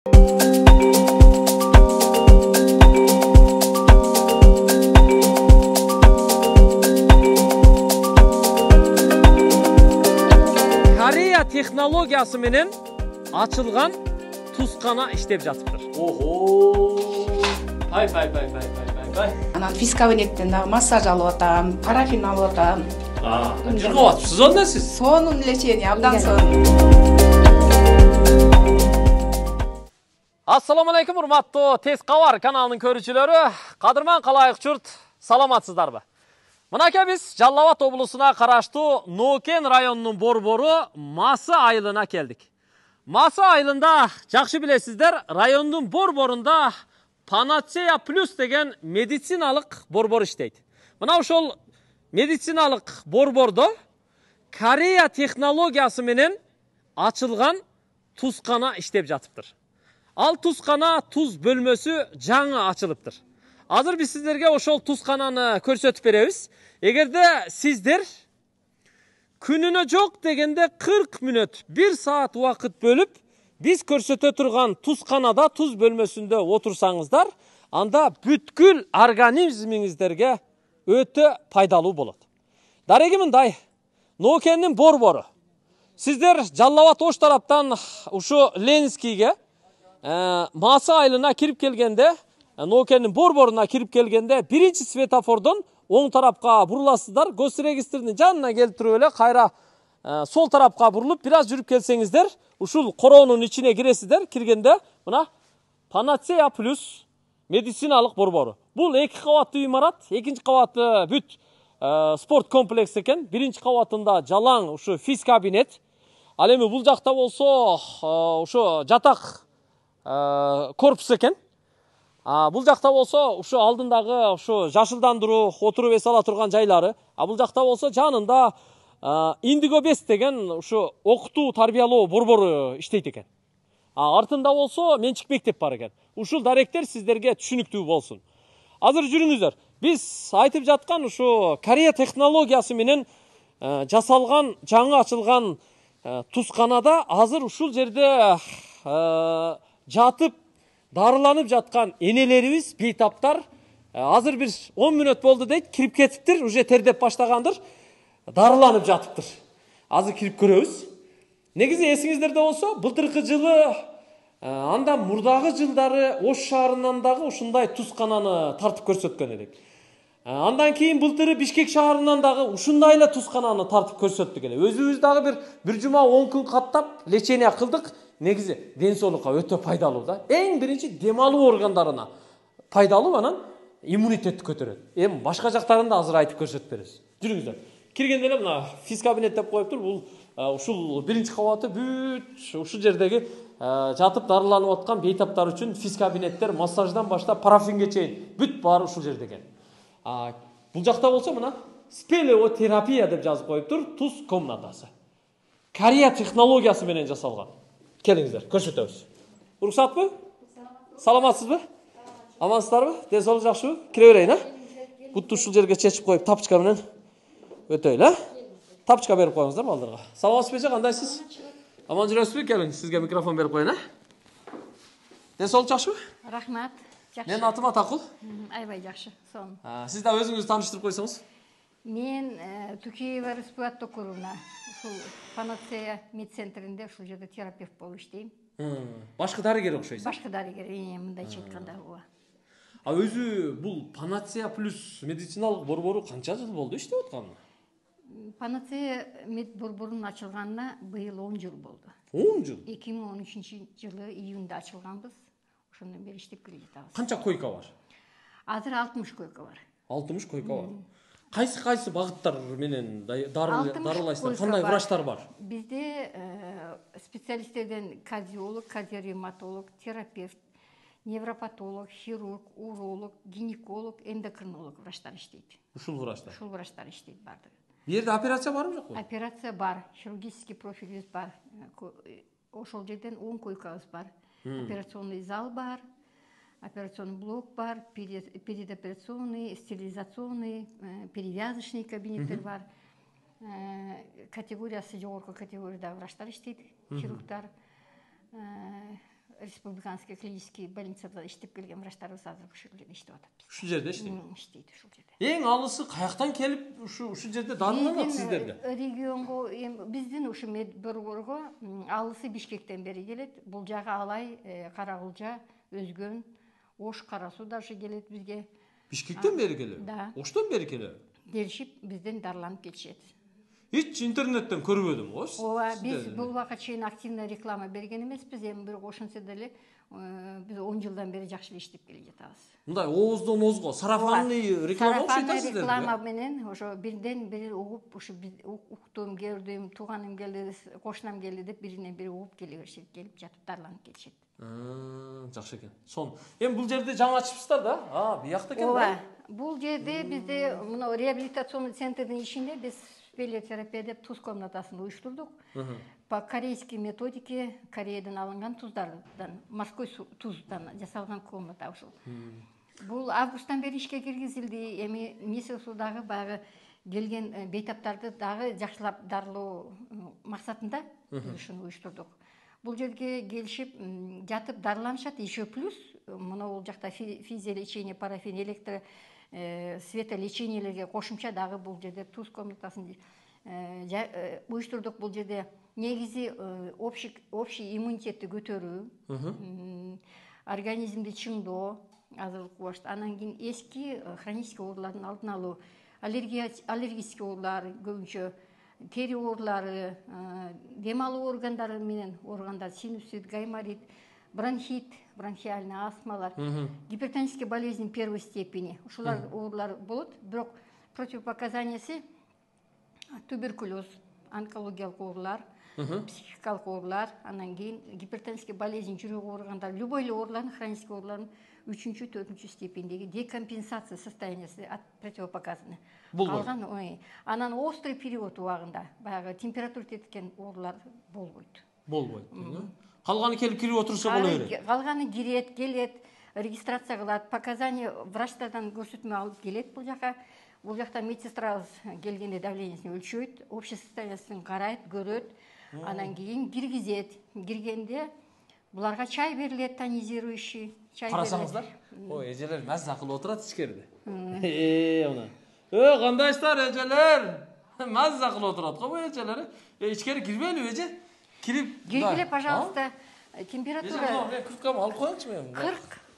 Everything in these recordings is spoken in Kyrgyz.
Корея технологиясы менен ачылган тускана иштеп жатыптыр. Пай. Анан физ кабинеттен дагы массаж алып атам, парафин алып атам. Жүргүп атыпсыз онда сиз? Сонун лечение, абдан сонун. Ассаламу алейкум, урматтуу Тез Кабар каналынын көрүүчүлөрү. Кадырман калайык журт, саламатсыздарбы? Мынакей биз Жалал Абад облусуна караштуу Нокен районунун борбору Масы айылына келдик. Масы айылында жакшы билесиздер, райондун борборунда Panacea Plus деген медициналык борбор иштейт. Мына ошол медициналык борбордо Корея технологиясы менен ачылган тускана иштеп жатыптыр. Ал тускана туз бөлмөсү жаңы ачылыптыр. Азыр биз сиздерге ошол тускананы көрсөтүп беребиз. Эгерде сиздер күнүнө жок дегенде 40 мүнөт, 1 саат убакыт бөлүп биз көрсөтө турган тусканада туз бөлмөсүндө отурсаңыздар, анда бүткүл организмиңиздерге өтө пайдалуу болот. Дареги мындай, Нокенин борбору. Сиздер Жалал Абад ош тараптан ушу Ленинскийге Масы айылына кирип келгенде, Нокенин борборуна кирип келгенде, биринчи светофордон оң тарапка буруласыздар, госрегистрдин жанына келтирип эле кайра сол тарапка бурулуп, бир аз жүрүп келсеңиздер, ушул короонун ичине киресиздер. Киргенде мына Panacea Plus медициналык борбору. Бул 2 кабаттуу имарат, экинчи кабаты бүт спорт комплекс экен. Биринчи кабатында жалаң ушу физ кабинет. Ал эми бул жакта болсо ошо жатак корпус экен. Бул жакта болсо ушу алдындагы ушу жашылдандыруу, отуруп эс ала турган жайлары. Бул жакта болсо жанында Индиго 5 деген ушу окутуу, тарбиялоо борбору иштейт экен. Артында болсо менчик мектеп бар экен. Ушул даректер сиздерге түшүнүктүү болсун. Азыр жүрүңүздөр. Биз айтып жаткан ушу Корея технологиясы менен жасалган, жаңы ачылган тусканада азыр ушул жерде жатып дарыланып жаткан энелерибиз, бейтаптар азыр бир 10 мүнөт болду дейт, кирип кетиптир, уже тердеп баштагандыр, дарыланып жатыптыр. Азыр кирип көрөбүз. Негизи эсиңиздерде болсо, былтыркы жылы, андан мурдагы жылдары Ош шаарынан дагы ушундай тускананы тартып көрсөткөн элек. Андан кийин былтыры Бишкек шаарынан дагы ушундай эле тускананы тартып көрсөттүк эле. Өзүбүз дагы бир жума 10 күн каттап лечение кылдык. Негизи ден соолукка өтө пайдалуу да. Эң биринчи дем алуу органдарына пайдалуу, анан иммунитетти көтөрөт. Эми башка жактарында азыр айтып көрсөтүп беребиз. Жүрүңүздөр. Киргенде эле мына физ кабинет деп коюптур. Бул ушул биринчи кабаты бүт ушул жердеги жатып дарыланып аткан бейтаптар үчүн физ кабинеттер, массаждан баштап парафинге чейин бүт баары ушул жерде экен. Бул жакта болсо мына спелеотерапия деп жазып коюптур, туз комнатасы. Корея технологиясы менен жасалган. Келиңиздер, көрсөтөбүз. Уруксатпы? Саламатсызбы? Амансыздарбы? Ден соолук жакшыбы? Кире берейин, Бутты ушул жерге чечип коюп, тапочка менен өтөйлү, Тапочка берип коюңуздар балдарга. Саламатсызбы, кандайсыз? Аман жүрөсүзбү? Келиң, сизге микрофон берип коюн, Ден соолук жакшыбы? Рахмат. Жакшы. Менин атым Атакул. Аябай жакшы. Сонун. Сиз да өзүңүздү тааныштырып койсоңуз. Мен Тукеева Республикат округуна ушул Panacea медцентринде ушул жерде терапевт болуп иштейм. Башкы дарыгер окшойсуз. Башкы дарыгер, мындайча айтканда, ооба. Өзү бул Panacea Plus медициналык борбору канча жыл болду иштеп атканына? Panacea мед борборунун ачылганына быйыл 10 жыл болду. 10 жыл? 2013-жылы июнда ачылганбыз. Ошондон бери иштеп келе жатабыз. Канча койка бар? Азыр 60 койка бар. 60 койка бар. Кайсы багыттар менен дарылайсыздар? Кандай врачтар бар? Бизде специалисттерден кардиолог, кардиоревматолог, терапевт, невропатолог, хирург, уролог, гинеколог, эндокринолог врачтар иштейт. Ушул врачтар? Ушул врачтар иштейт баардыгы. Бу жерде операция барбы жокпу? Операция бар, хирургический профилибиз бар. Ошол жерден 10 койкабыз бар. Операционный зал бар, операционный блок бар, передоперационный, стерилизационный, перевязочный кабинеттер бар. Категориясы жогорку категорияда врачтар иштейт, хирургдар. республиканский клинический больницада иштеп келген врачтарыбыз азыр ушул жерде иштеп атат. Ушул жерде иштейт. Иштейт ушул жерде. Эң алысы каяктан келип ушул жерде дарыланат сиздерде? Регионго, биздин ушу медборгорго алысы Бишкектен бери келет. Бул жагы Алай, Каракулжа, Өзгөн, Ош, Кара Суу даже келет бизге. Бишкектен бери келет? Да. Оштон бери келет? Келишип бизден дарыланып кетишет. Hiç internetten көрбөдүм го. Ооба, биз бул убакка чейин активный реклама берген эмеспиз, эми бирок ошентсе деле биз 10 жылдан бери жакшы иштеп келе жатабыз. Мындай ооздон оозго сарафанный реклама окшойт сиздерде. Реклама менен ошо бирден бири угуп, ушу уктум, көрдүм, тууганым келди, кошунам келди деп биринен бири угуп келе беришет, келип жатып дарыланып кетишет. Жакшы экен. Сон, эми бул жерде жаңы ачыпсыздар да? Биякта экен да? Ооба. Бул жерде бизде мына реабилитационный центрдин ичинде биз спелеотерапия деп туз комнатасын уюштурдук. По корейской методике, Кореядан алынган туздардан, морской туздан жасалган комната ушул. Бул августтан бери ишке киргизилди. Эми месяц дагы баягы келген бейтаптарды дагы жакшылап дарылоо максатында биз ушуну уюштурдук. Бул жерге келишип жатып дарыланышат. Еще плюс мына бул жакта физиолечение, парафин, электро светолечениелерге кошумча дагы бул жерде туз комнатасын уюштурдук. Бул жерде негизи общий иммунитетти көтөрүү, организмди чыңдоо, азырлык кубаш, анан кийин эски хронический оорулардын алдын алуу, аллергический оорулар көбүнчө, тери оорулары, дем алуу органдары менен ооругандар, синусит, гайморит, бронхит, бронхиальный астмалар, гипертоническая болезнь первой степени. Ушулар оорулар болот, бирок противопоказаниясы туберкулез, онкологиялык оорулар, психикалык оорулар, анан кийин гипертоническая болезнь жүрөк ооругандар, любой эле оорулардын, хронический оорулардын 3-4 степендеги декомпенсация состояниясы от противопоказаны. Калган, анан острый период убагында баягы температура жеткен оорулар болбойт. Калганы келип кирип отурса боло берет. Калганы кирет, келет, регистрация кылат, показания врачтардан көрсөтмө алып келет бул жака. Бул жакта медсестрабыз келгенде давлениесин өлчөйт, общий состояниясын карайт, көрөт, анан кийин киргизет. Киргенде буларга чай берилет, тонизирующий чай. Карасаңыздар, эжелер маза кылып отурат ичкериде. Мына. Кандайсыздар эжелер? Маза кылып отурат го бу эжелер. Ичкери кирбейли эже? Киргиле, пожалуйста. Температура мен курткамды алып коеюнчу мен.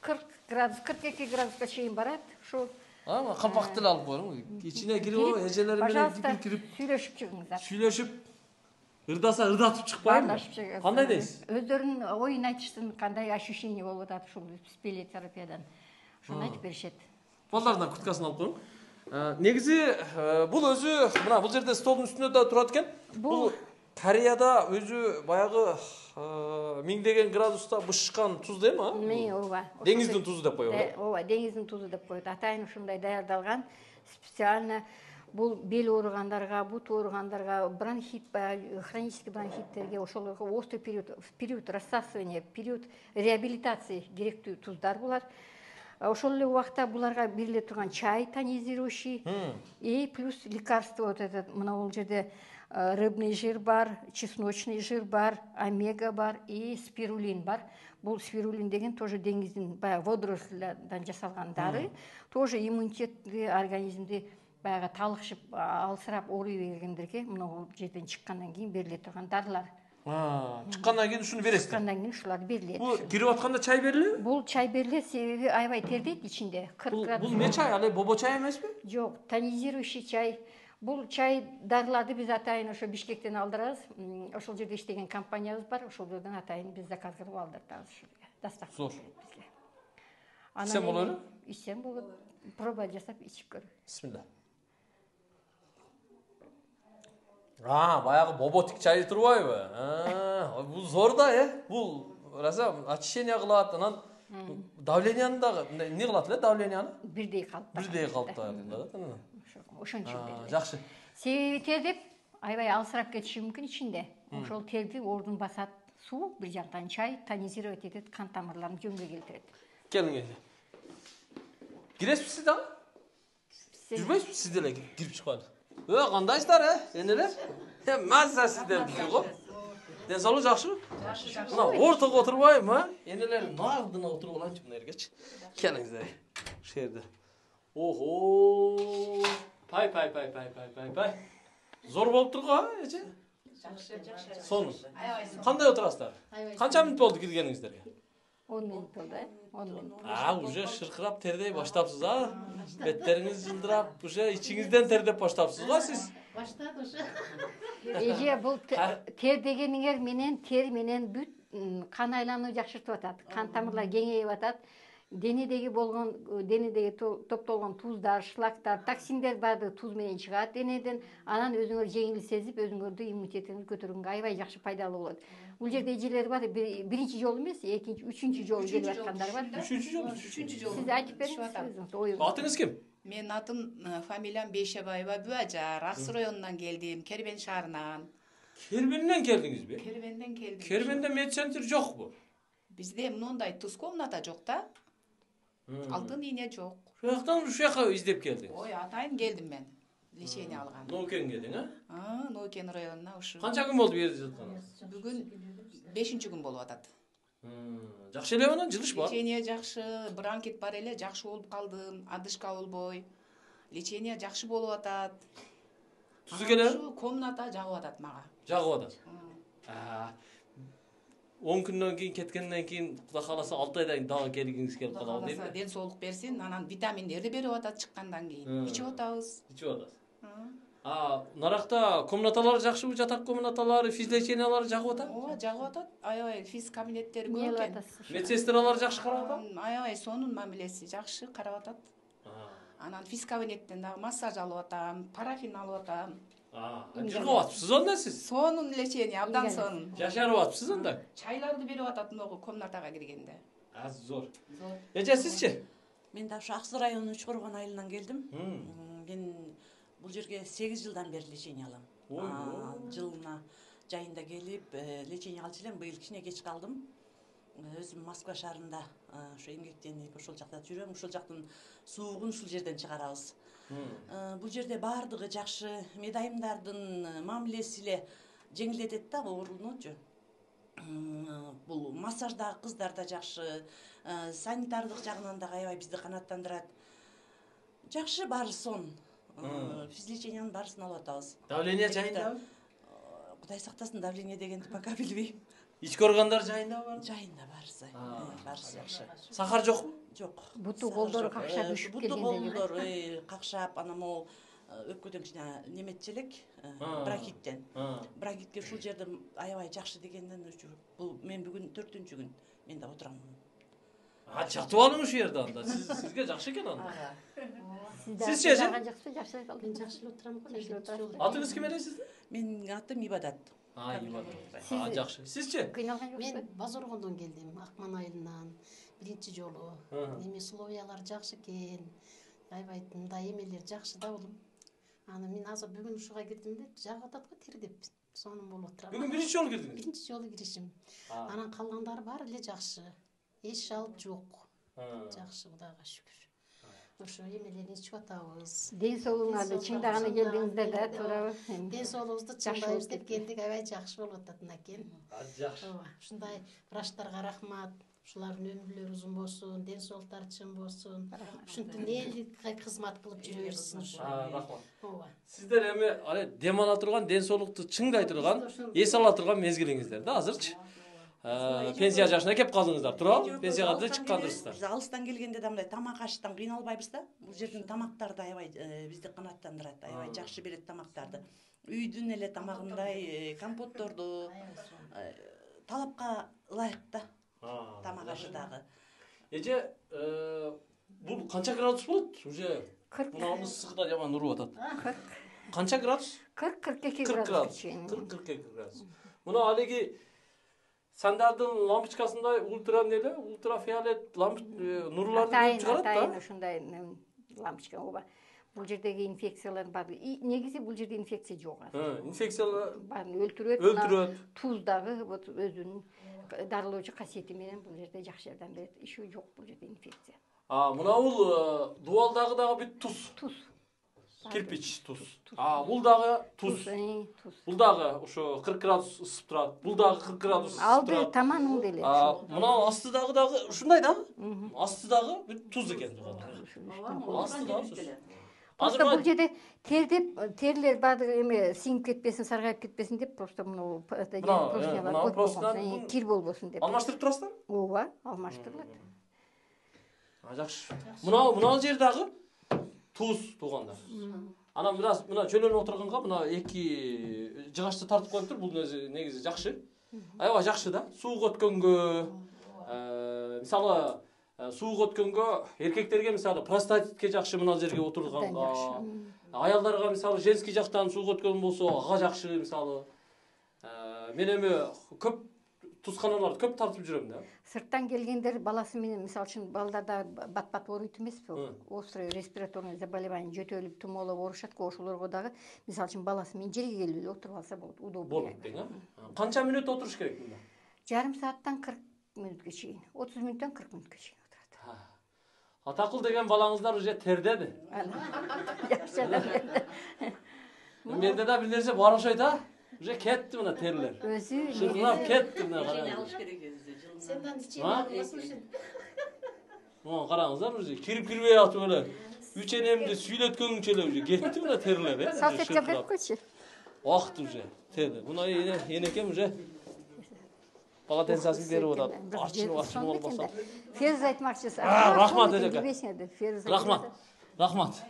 40 градус, 42 градуска чейин барат. Ошо калпакты эле алып коюң. Ичине кирип, эжелер менен кирип сүйлөшүп чыгыңыздар. Сүйлөшүп, ырдаса ырдатып чыкпайбы? Кандай дейсиз? Өздөрүнүн оюн айтыштын кандай ощущение болуп атат ушул спелеотерапиядан. Ошону айтып беришет. Балдардан курткасын алып коюң. Негизи бул өзү мына бул жерде столдун үстүндө да турат экен. Бул Кореяда өзү баягы 1000 градуста бышышкан туз дейм, ооба. Деңиздин тузу деп коет. Ооба, деңиздин тузу деп коет. Атайын ушундай даярдалган специально бул бел ооругандарга, бут ооругандарга, бронхит, хронический бронхиттерге, ошолорго острый период рассасывания, период реабилитации керектүү туздар булар. Ошол эле убакта буларга бериле турган чай тонизирующий и плюс лекарство вот этот, мына бул жерде рыбный жир бар, чесночный жир бар, омега бар и спирулин бар. Бул спирулин деген тоже деңиздин баягы водоросльдан жасалган дары, тоже иммунитетти, организмди баягы талыкшып, алсырап ооруй бергендерге мына бул жерден чыккандан кийин бериле турган дарылар. Чыккандан кийин ушуну бересиз. Чыккандан кийин ушулар берилет. Бул кирип атканда чай берилеби? Бул чай берилет, себеби аябай тердейт ичинде. 40 градус. Бул не чай? Ал бобо чай эмеспи? Жок, тонизирующий чай. Бул чай дарыларды биз атайын ошо Бишкектен алдырабыз. Ошол жерде иштеген компаниябыз бар, ошол жерден атайын биз заказ кылып алдыртабыз ушуга. Доставка зор бизге. Ичсем болобу? Ичсем болот. Проба жасап ичип көр. Бисмилла. Баягы боботик чай турбайбы? Бул зор да, бул раса очищение кылат, анан давленияны дагы эмне кылат эле давленияны? Бирдей калыпта. Бирдей калыпта. Ошончо берет. Жакшы. Себеби тердеп аябай алсырап кетиши мүмкүн ичинде. Ошол терди ордун басат. Суу, бир жактан чай тонизировать этет, кан тамырларын жөнгө келтирет. Келиңиз. Киресизби дагы? Жүрбөйсүзбү сиз деле кирип чыкпадыңыз? Кандайсыздар, энелер? Маза сиздер го. Ден соолук жакшыбы? Мына ортого отурбайбы, а? Энелер нардына отуруп алайынчы мына жергечи. Келиңиздер. Ушул жерде. Ого! Пай. Зор болуп турго, эже? Жакшы. Сонун. Кандай отурасыздар? Канча мүнөт болду киргениңиздерге? 10 минут болду, 10 минут. Уже шыркырап тердей баштапсыз, а? Беттериңиз жылдырап, уже ичиңизден тердеп баштапсыз го сиз? Баштады уже. Эже бул тер дегениңер менен тер менен бүт кан айлануу жакшыртып атат. Кан тамырлар кеңейип атат. Денедеги топтолгон туздар, шлактар, токсиндер баардыгы туз менен чыгат денеден. Анан өзүңөр жеңил сезип, өзүңөрдү иммунитетиңизди көтөргөнгө аябай жакшы пайдалуу болот. Бул жерде эжелер бар, биринчи жолу эмес, экинчи, үчүнчү жолу келип аткандар бар. Үчүнчү жолу. Сиз айтып бериңиз. Атыңыз ким? Менин атым фамилиям Бейшебаева Бүажар. Ак Суу районунан келдим, Кербен шаарынан. Кербенден келдиңизби? Кербенден келдим. Кербенде медцентр жокпу? Бизде мындай туз комната жок да. Алтын ийне жок. Ушуяктан ушуяка издеп келдиңиз. Ой, атайын келдим мен. Лечение алган. Ноукен келдиң, а? Ноукен районуна ушу. Канча күн болду бу жерде жатканыңыз? Бүгүн 5-чи күн болуп атат. Жакшы эле анан жылыш бар. Лечение жакшы, бронхит бар эле, жакшы болуп калдым, адышка болбой. Лечение жакшы болуп атат. Тузу келе? Ушу комната жагып атат мага. Жагып атат. 10 күндөн кийин кеткенден кийин Кудай кааласа 6 айдан кийин дагы келгиңиз келип калабы дейм. Ден соолук берсин, анан витаминдерди берип атат чыккандан кийин. Ичип атабыз. Ичип атасыз. Наракта комнаталар жакшыбы? Жатак комнаталары, физлечениялары жагып атат? Ооба, жагып атат. Аябай физ кабинеттери көп экен. Медсестралар жакшы карап атат? Аябай сонун мамилеси жакшы карап атат. Анан физ кабинеттен дагы массаж алып атам, парафин алып атам. Жыргап атыпсыз анда сиз? Сонун лечение, абдан сонун. Жашарып атыпсыз анда? Чайларды берип атат могу комнатага киргенде. Зор. Эже сизчи? Мен да ушу Ак Суу районунун Чукурган айылынан келдим. Мен бул жерге 8 жылдан бери лечение алам. Жылына жайында келип лечение алчу элем. Быйыл кичине кеч калдым. Өзүм Москва шаарында ошо эмгектенип ошол жакта жүрөм. Ошол жактын суугун ушул жерден чыгарабыз. Бул жерде баардыгы жакшы, медайымдардын мамилеси эле жеңилдетет да оорунучу. Бул массаждагы кыздар да жакшы, санитардык жагынан да аябай бизди канааттандырат. Жакшы, баары сонун. Физлечениянын баарысын алып атабыз. Давление жайындабы? Кудай сактасын, давление дегенди пока билбейм. Ички органдар жайындабы бар? Жайында баарысы. Баарысы жакшы. Сахар жокпу? Жок. Буту колдору какшап үшүп Буту келгендеги. колдор какшап, анан могу өпкөдөн кичине неметчи элек, бронхиттен. Бронхитке ушул жерде аябай жакшы дегенден бул мен бүгүн 4-күн мен да отурам. Жатып алың ушул жерде анда. Сизге жакшы экен анда. Сизчи эже? Жакшы Мен жакшы эле отурам го. Атыңыз ким эле сиздин? Менин атым Ибадат. Ибадат. Жакшы. Сизчи? Кыйналган жоксуз? Мен Базоргондон келдим, Акман айылынан. Биринчи жолу. Эми условиялар жакшы экен. Аябай мындай эмелер жакшы да улум. Аны мен азыр бүгүн ушуга кирдим деп жагып атат го тер деп. Сонун болуп отурам. Бүгүн биринчи жолу кирдиңиз? Биринчи жолу киришим. Анан калгандары баары эле жакшы. Эч жалп жок. Жакшы, Кудайга шүгүр. Ошо эмелерди ичип атабыз. Ден соолугуңарды чыңдаганы келдиңиздер да, туурабы? Ден соолугубузду чыңдайбыз деп келдик, аябай жакшы болуп атат мынакей. Жакшы. Ооба, ушундай врачтарга рахмат. Ушулардын өмүрлөрү узун болсун, ден соолуктары чың болсун. Ушинтип элге кызмат кылып жүрө берсин. Рахмат. Ооба. Сиздер эми дем ала турган, ден соолукту чыңдай турган, эс ала турган мезгилиңиздер да азырчы. Пенсия жашына кеп калдыңыздар, туурабы? Пенсияга да чыккандырсыздар. Биз алыстан келгенде да мындай тамак аштан кыйналбайбыз да. Бул жердин тамактары да аябай бизди канааттандырат, аябай жакшы берет тамактарды. Үйдүн эле тамагындай компотторду талапка ылайык да. Тамак ашы дагы. Эже, бул канча градус болот? Уже мына ысыгы да жаман уруп атат. Канча градус? 40-42 40 градус. 40-42 градус. Мына алиги сандардын лампочкасындай ультрафиолет нурларды чыгарат да. Атайын ушундай лампочка, ооба. Бул жердеги инфекциялар бар. Негизи бул жерде инфекция жок. Инфекциялар баарын өлтүрөт. Өлтүрөт. Туз дагы вот өзүнүн дарылоочу касиети менен бул жерде жакшы жардам берет. Иши жок бул жерде инфекция. Мына бул дубалдагы дагы бүт туз. Туз. Кирпич туз. Бул дагы туз. Туз. Бул дагы ошо 40 градус ысып турат. Бул дагы 40 градус ысып Алды турат. таманың деле. Мына астыдагы дагы ушундай да? Астыдагы туз экен тууганда. Астыдагы. Просто бул жерде терлер баардыгы эме сиңип кетпесин, саргайып кетпесин деп просто мына профилялар койгон, кир болбосун деп. Алмаштырып турасыздар? Ооба, алмаштырылат. Жакшы. Мына жер дагы туз туугандар. Анан бираз мына чөлөнүп отурганга мына эки жыгачты тартып коюптур. Бул негизи жакшы. Аябай жакшы да. Сууга өткөнгө, мисалы сууга өткөнгө эркектерге мисалы простатитке жакшы мына жерге отурганга. Аялдарга мисалы женский жактан сууга өткөн болсо ага жакшы мисалы. Мен эми көп тузканаларды көп тартып жүрөм да. Сырттан келгендер баласы менен мисалы үчүн балдарда бат-бат ооруйт эмеспи? Острый респираторный заболевание жөтөлүп, тумоолоп оорушат го, ошолорго дагы мисалы үчүн баласы менен жерге келип эле отуруп алса болот, удобно. Болот дең, Канча мүнөт отуруш керек мында? Жарым сааттан 40 мүнөткө чейин, 30 мүнөттөн 40 мүнөткө чейин отурат. Атакыл деген балаңыздар уже тердеди. Жакшы адам. Менде да бир нерсе бар окшойт а. Уже кетти мына терлер. Өзү Шыргынап кетти мына караңыз. Алыш керек өзү жылына. Сендан ичем слушай. Караңыздар уже кирип-кирбей атып эле. Үч энемди сүйлөткөнгүчө эле уже кетти мына терлер, салфетка берип койчу. Вакыт уже терди. Мына энекем уже полотенцасын берип атат. Ачынып болбосо. Ферз айтмакчысыз. Рахмат эжеке. Рахмат.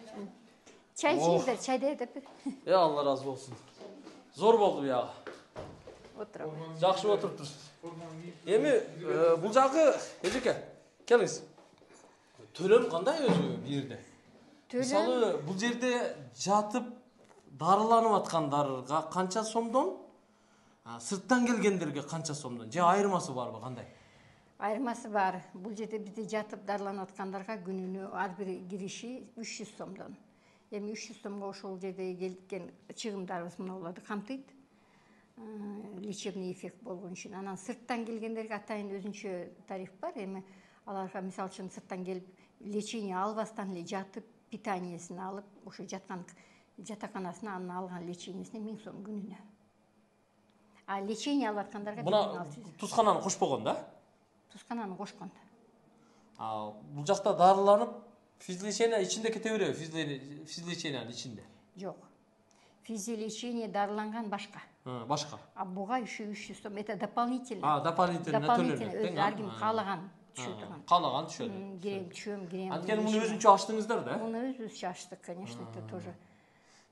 Чай içingizler, çayda edip. Allah razı olsun. Zor болду ya. Oturalım. Жакшы отуруптур. Эми бул жагы эжеке, келиңиз. Төлөм кандай өзү бу жерде? Мисалы, бул жерде жатып дарыланып аткандарга канча сомдон? Сырттан келгендерге канча сомдон? Же айырмасы барбы, кандай? Айырмасы бар. Бул жерде бизде жатып дарыланып аткандарга күнүнө ар бир кириши 300 сомдон. Эми 300 сомго ошол жерде келген чыгымдарыбыз мыналарды камтыйт. Лечебный эффект болгон үчүн. Анан сырттан келгендерге атайын өзүнчө тариф бар. Эми аларга мисалы үчүн сырттан келип лечение албастан эле жатып, питаниесин алып, ошо жаткан жатаканасына анын алган лечениесине 1000 сом күнүнө. Лечение алып аткандарга мына тузкананы кошпогон да? Тузкананы кошкон. Бул жакта дарыланып физлечение ичинде кете береби? Физлечениянын ичинде. Жок. Физлечение дарыланган башка. Башка. Буга 300 сом. Это дополнительно. Дополнительно төлөнөт. Ар ким каалаган түшө турган. Каалаган түшөт. Кирем. Анткени муну өзүнчө ачтыңыздар да? Муну өзүбүзчө ачтык, конечно, это тоже.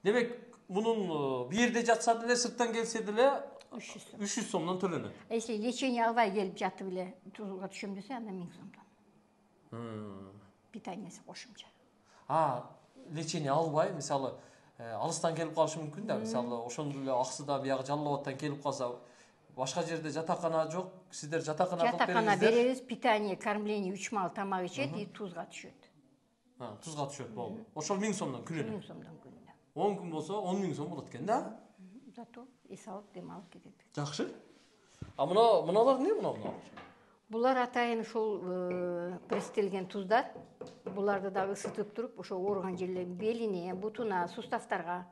Демек, мунун бир жерде жатса деле, сырттан келсе деле 300 сомдон төлөнөт. Если лечение албай келип жатып эле тузга түшөм десе, анда 1000 сомдон. Питаниеси кошумча. Лечение албай, мисалы, алыстан келип калышы мүмкүн да, мисалы, ошондо эле Аксыда биягы Жалал Абадтан келип калса, башка жерде жатакана жок, сиздер жатакана кылып бериңиздер. Жатакана беребиз, питание, кормление 3 мал тамак ичет и тузга түшөт. Тузга түшөт, болду. Ошол 1000 сомдон күнүнө. 1000 сомдон күнүнө. 10 күн болсо 10 000 сом болот экен да? Зато эс алып дем алып кетет. Жакшы. Мыналар эмне мына? Булар атайын ушул пресстелген туздар. Буларды да ысытып туруп, ошо ооруган жерлерин белине, бутуна, суставтарга,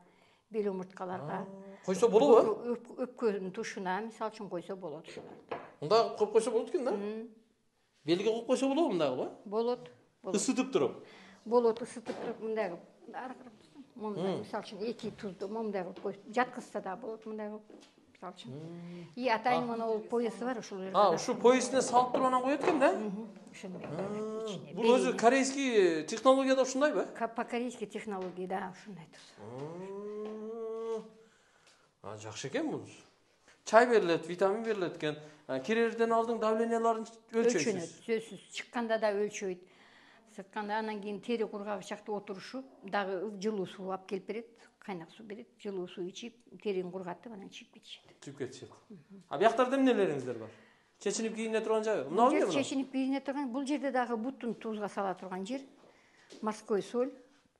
бел омурткаларга. Койсо болобу? Өпкөнүн тушуна, мисалы үчүн койсо болот ушуларды. Мында коюп койсо болот экен да? Белге коюп койсо болобу мындагы? Болот. Ысытып туруп. Болот, ысытып туруп мындагы. Мындай мисалы үчүн 2 тузду мындай кылып коюп, жаткызса да болот мындай кылып. Мисалы үчүн. И атайын монол поясы бар ушул жерде. Ушу поясине салып туруп анан коет экен да? Ошондой. Бул өзү корейский технологияда ушундайбы? По корейской технологии, да, ушундай туз. Жакшы экен бул. Чай берилет, витамин берилет экен. Кирерден алдын давленияларын өлчөйсүз. Сөзсүз. Чыкканда да өлчөйт. Сыртканда анан кийин тери кургагы чакта отурушу, дагы жылуу суу алып келип берет, кайнак суу берет, жылуу суу ичип, терин кургатып анан чийип кетишет. Чийип кетишет. Биактарда эмнелериңиздер бар? Чечинип кийине турган жайбы? Мына эмне? Чечинип кийине турган, бул жерде дагы бутун тузга сала турган жер. Морской соль,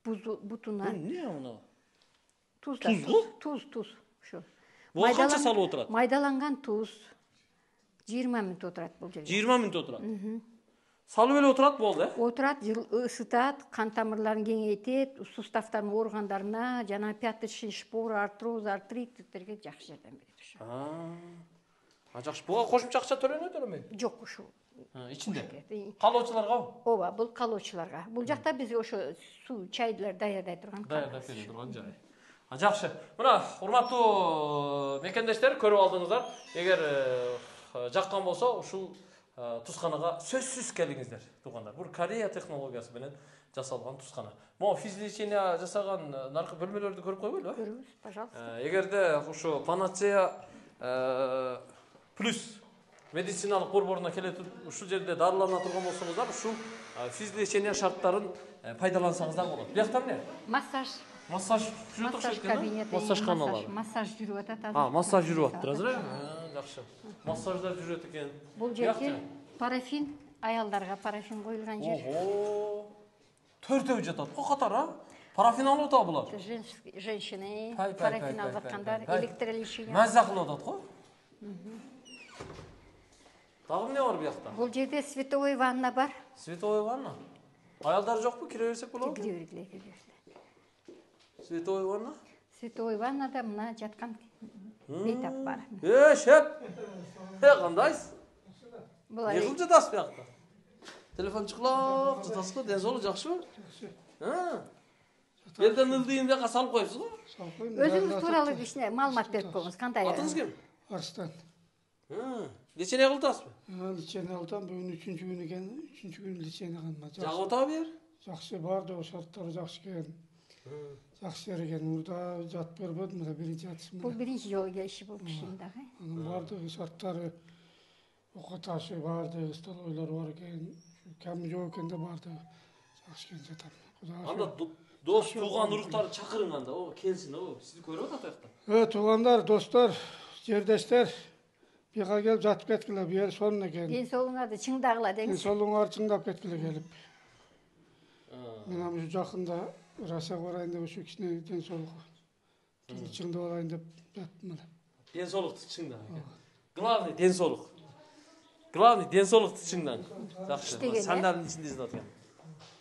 бутуна. Эмне мына? Туз. Ошо. Буга канча салып отурат? Майдаланган туз 20 мүнөт отурат бул жерде. 20 мүнөт отурат. салып эле отурат болду, Отурат, ысытат, кан тамырларын кеңейтет, суставтардын органдарына, жана пяточный шпор, артроз, артриттерге жакшы жардам берет ошо. Жакшы. Буга кошумча акча төлөнөт эле? Жок, ошо. Ичинде. Калоочуларга? Ооба, бул калоочуларга. Бул жакта бизге ошо суу, чайлар даярдай турган. Даярдап бере турган жай. Жакшы. Мына, урматтуу мекендештер, көрүп алдыңыздар. Эгер жаккан болсо, ушул тусканага сөзсүз келиңиздер, туугандар. Бул Корея технологиясы менен жасалган тускана. Могу физлечение жасаган наркы бөлмөлөрдү көрүп койбойлубу? Көрүңүз, пожалуйста. Эгерде ушу Панацея плюс медициналык борборуна келе ушул жерде дарылана турган болсоңуздар, ушул физлечение шарттарын пайдалансаңыздар болот. Биякта эмне? Массаж жүрүп окшойт экен. кабинети, Массаж каналары. массаж жүрүп атат азыр. Массаж жүрүп атыптыр азыр, жакшы. Массаждар жүрөт экен. Бул жерде парафин, аялдарга парафин коюлган жер. Ого. Төртөө жатат го катар, Парафин алып атат булар. Женщины, парафин алып аткандар, электролечение. Маза кылып атат го. Дагы эмне бар биякта? Бул жерде световой ванна бар. Световой ванна? Аялдар жокпу? Кире берсек болобу? Кире бергиле. Световой ванна? Световой ваннада мына жаткан бейтап бар. Шеп! Кандайсыз? Булар Не кылып жатасыз биякта? Телефон чыкылап жатасызбы? Ден соолук жакшыбы? Элден ылдыйын бияка салып коюпсуз го? өзүңүз тууралуу кичине маалымат берип коюңуз. Кандай? Атыңыз ким? Арстан. Лечение кылып атасызбы? Лечение алсам, бүгүн 3-чү күн экен, 3-чү күн лечение кылдым. Жагып атабы бер? Жакшы барды, шарттары жакшы экен. Жакшы экен. Мурда жатып көрбөдүм, мына биринчи жатышым. Бул биринчи жолу келиши болмуш дагы. Анын бардыгы шарттары око ташы барды, столойлор бар экен. Кем жок экен да барды. Жакшы экен жатам. Анда дос, тууган, уруктары чакырың анда, келсин, сизди көрүп атат аякта. Туугандар, достор, жердештер, бияка келип жатып кеткиле, бери сонун экен. Ден соолуңарды чыңдагыла Ден деңиз. соолуңарды чыңдап кеткиле келип. Мен ушу жакында Россияга барайын деп ушу кичине ден соолугу чыңдап алайын деп жаттым эле. Ден соолукту чыңда. Главный ден соолук. Главный ден соолукту чыңдаң. Жакшы. Сандардын ичинде изилеп аткан.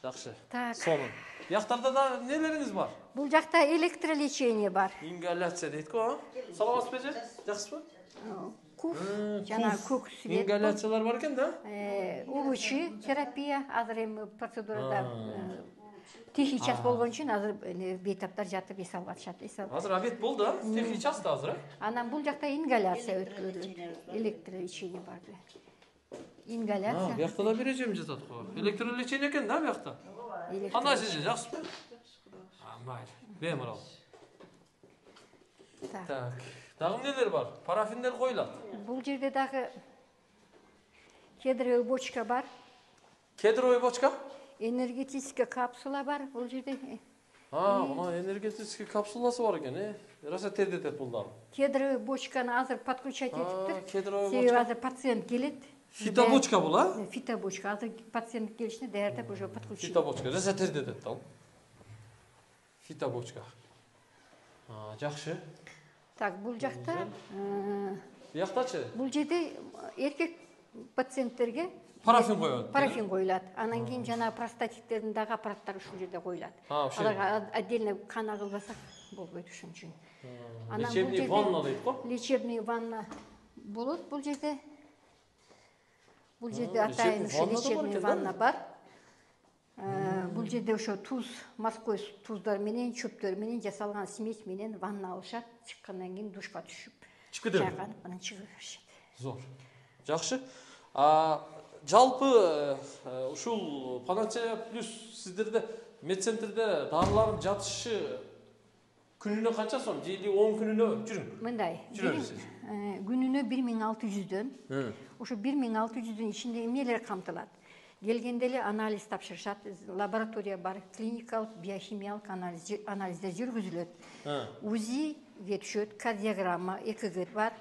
Жакшы. Сонун. Бияктарда да нелериңиз бар? Бул жакта электролечение бар. Ингаляция дейт го, Саламатсызбы эже? Жакшысызбы? Куф, жана көк свет. Ингаляциялар бар экен да? Улучши терапия, азыр эми процедурада тихий час болгон үчүн азыр бейтаптар жатып эс алып атышат. Азыр обед болду, тихий час да азыр. Анан бул жакта ингаляция өткөрүлөт. Электролечение бар. Ингаляция. Биякта да бир эжем жатат го. Электролечение экен да биякта? Кандайсыз эже, жакшысызбы? Майыр. Беморал. Так. Дагы эмнелер бар? Парафиндер коюлат. Бул жерде дагы кедровый бочка бар. Кедровый бочка? Энергетическая капсула бар бул жерде. Мына энергетический капсуласы бар экен, Роса тердетет бул дагы. Кедровый бочканы азыр подключать этиптир. Кедровый Себеби азыр пациент келет. Фитобочка бул, Фитобочка. Азыр пациент келишине даярдап уже подключить. Фитобочка, Роса тердетет да. Фитобочка. Жакшы. Так, бул жакта Бияктачы? бул жерде эркек пациенттерге Парафин коёт. Парафин коюлат. Анан кийин жана простатиттердин дагы аппараттары ушул жерде коюлат. Аларга отдельно кан агылбасак болбойт ушун үчүн. Лечебный ванна дейт го? Лечебный ванна болот бул жерде. Бул жерде атайын лечебный ванна бар. Бул жерде ошо туз, морской туздар менен, чөптөр менен жасалган смесь менен ванна алышат. Чыккандан кийин душка түшүп, чайканып, анан чыгып беришет. Зор. Жакшы. Жалпы ушул Панацея плюс сиздерде медцентрде дарылардын жатышы күнүнө канча сом? Же 10 күнүнө жүрүң? Мындай. Күнүнө 1600дөн. Ошо 1600дүн ичинде эмнелер камтылат? Келгенде эле анализ тапшырышат, лаборатория бар, клиникалык, биохимиялык анализдер жүргүзүлөт. УЗИ түшөт, кардиограмма, ЭКГ бар,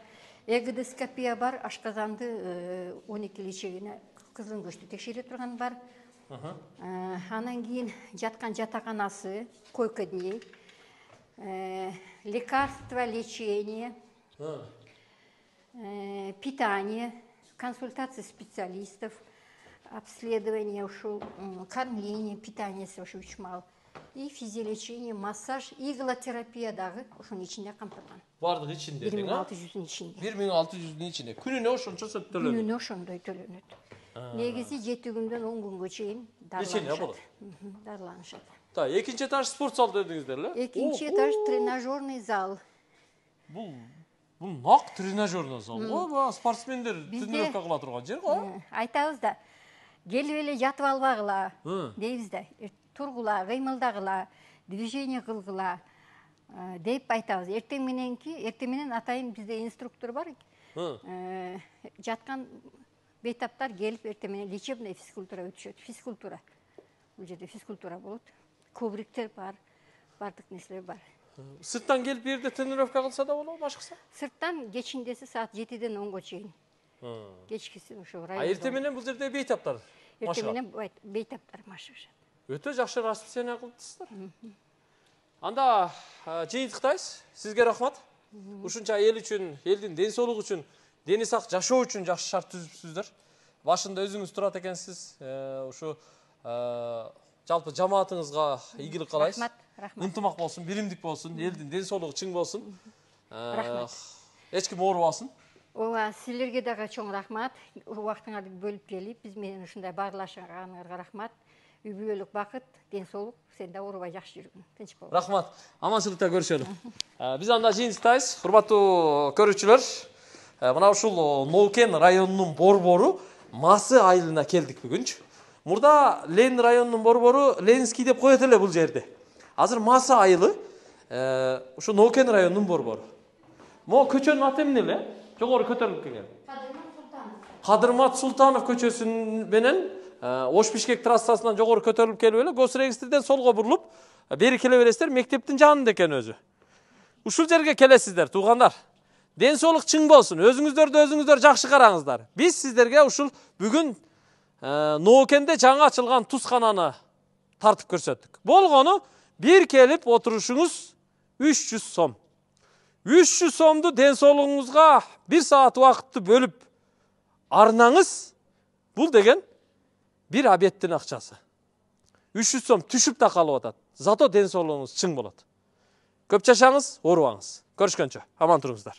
эгодоскопия бар, ашказанды 12 лечегине кызыл көчтү текшере турган бар. Анан кийин жаткан жатаканасы, койка дней, лекарства, лечение, питание, консультация специалистов, обследование ушул, кормление, питаниеси ошо 3 мал. И физиолечение, массаж, иглотерапия дагы ошонун ичинде камтылган. Бардыгы ичинде дең, 1600'ün içinde. 1600'ün ичинде. Күнүнө ошончо төлөнөт. Күнүнө ошондой төлөнөт. Негизи 7 күндөн 10 күнгө чейин болот. Дарыланышат. Так, экинчи этаж спорт зал дедиңиздер эле? Экинчи этаж тренажерный зал. Бул нак тренажерный зал го, спортсмендер тренировка кыла турган жер го. Айтабыз да, келип эле жатып албагыла дейбиз да. Тургула, кыймылдагыла, движение кылгыла деп айтабыз. Эртең менен атайын бизде инструктор бар. Жаткан бейтаптар келип эртең менен лечебный физкультура өтүшөт. Физкультура. Бул жерде физкультура болот. Ковриктер бар, бардык нерселер бар. Сырттан келип бу жерде тренировка кылса да болобу, башкысы? Сырттан кечиндеси саат 7-ден 10-го чейин. Кечкиси ошо район. Эртең менен бул жерде бейтаптар. Эртең менен бейтаптар машыгышат. Өтө жакшы расписание кылыптсыздар. Анда жыйынтыктайбыз. Сизге рахмат. Ушунча эл үчүн, элдин ден соолугу үчүн, дени сак жашоо үчүн жакшы шарт түзүпсүздөр. Башында өзүңүз турат экенсиз. Ушу жалпы жамаатыңызга ийгилик каалайбыз. Рахмат. Ынтымак болсун, биримдик болсун, элдин ден соолугу чың болсун. Эч ким оорубасын. Ооба, силерге дагы чоң рахмат. Убактыңарды бөлүп келип, биз менен ушундай баарлашганыңарга рахмат. Үй бүлөлүк бакыт, ден соолук, сен да оорубай жакшы жүргүн. Тынч бол. Рахмат. Аманчылыкта көрүшөлү. Биз анда жыйынтыктайбыз. Урматтуу көрүүчүлөр, мына ушул Ноокен районунун борбору Масы айылына келдик бүгүнчү. Мурда Ленин районунун борбору Ленинский деп коет эле бул жерде. Азыр Масы айылы ушу Ноокен районунун борбору. Могу көчөнүн аты эмне эле? Жогору көтөрүлүп келген. Кадырмат Султанов көчөсүн менен Ош Бишкек трассасынан жогору көтөрүлүп келип эле Госрегистрден солго бурулуп, бери келе бересиздер, мектептин жанында экен өзү. Ушул жерге келесиздер, туугандар. Ден соолук чың болсун, өзүңүздөр жакшы караңыздар. Биз сиздерге ушул бүгүн Ноокенде жаңы ачылган тускананы тартып көрсөттүк. Болгону бир келип отурушуңуз 300 сом. 300 сомду ден соолугуңузга 1 саат убакытты бөлүп арнаңыз, бул деген бир обедтин акчасы. 300 сом түшүп да калып атат. Зато ден соолугуңуз чың болот. Көп жашаңыз, оорубаңыз. Көрүшкөнчө, аман туруңуздар.